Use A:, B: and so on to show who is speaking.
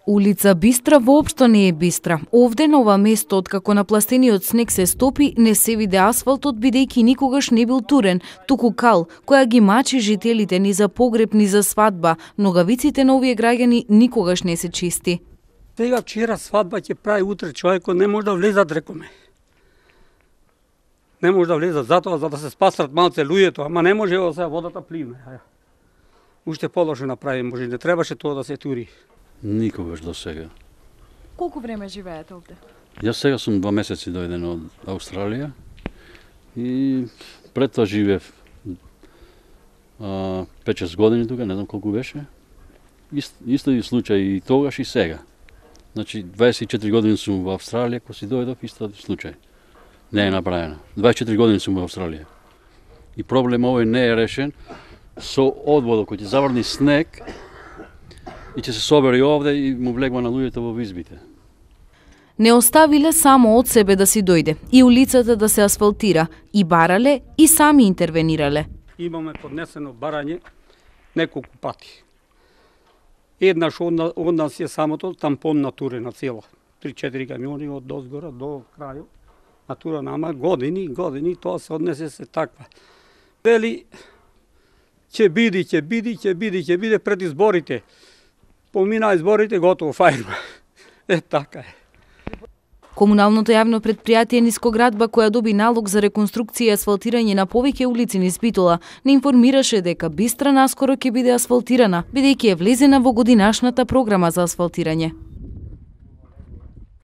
A: Улица Бистра воопшто не е бистра. Овде на ова место, откако напластениот снег се стопи, не се виде асфалтот, бидејќи никогаш не бил турен, туку кал, која ги мачи жителите ни за погреб, ни за свадба. Ногавиците на овие граѓани никогаш не се чисти.
B: Сега вчера свадба ќе прави, утре човекот не може да влезат, рекоме. Не може да влезат, затоа за да се спасат малце луѓето, ама не може сега водата пливне. Уште полошо направи, може не требаше тоа да се тури.
C: Никогаш до сега.
A: Колку време живеете овде?
C: Јас сега сум 2 месеци дојден од Австралија и пред тоа живеев 5-6 години тука, не знам колку беше. Исто и случај и тогаш и сега. Значи 24 години сум во Австралија, кога си дојдов, исто случај. Не е направено. 24 години сум во Австралија. И проблем овој не е решен со одводот кој ќе заврни снег и ќе се собери овде и му влегва на луѓето во избите.
A: Не оставиле само од себе да си дојде и улицата да се асфалтира, и барале, и сами интервенирале.
B: Имаме поднесено барање неколку пати. Еднаш од нас е самото тампон натурена цела. 3-4 камиони од дозгора до крајот. Натурена, ама години, тоа се однесе се таква. Вели, ќе биде пред изборите. Помина изборите, готово, фајрма. Така е.
A: Комуналното јавно предпријатие Нискоградба, која доби налог за реконструкција и асфалтирање на повеќе улици низ Битола, не информираше дека Бистра наскоро ќе биде асфалтирана, бидејќи е влезена во годинашната програма за асфалтирање.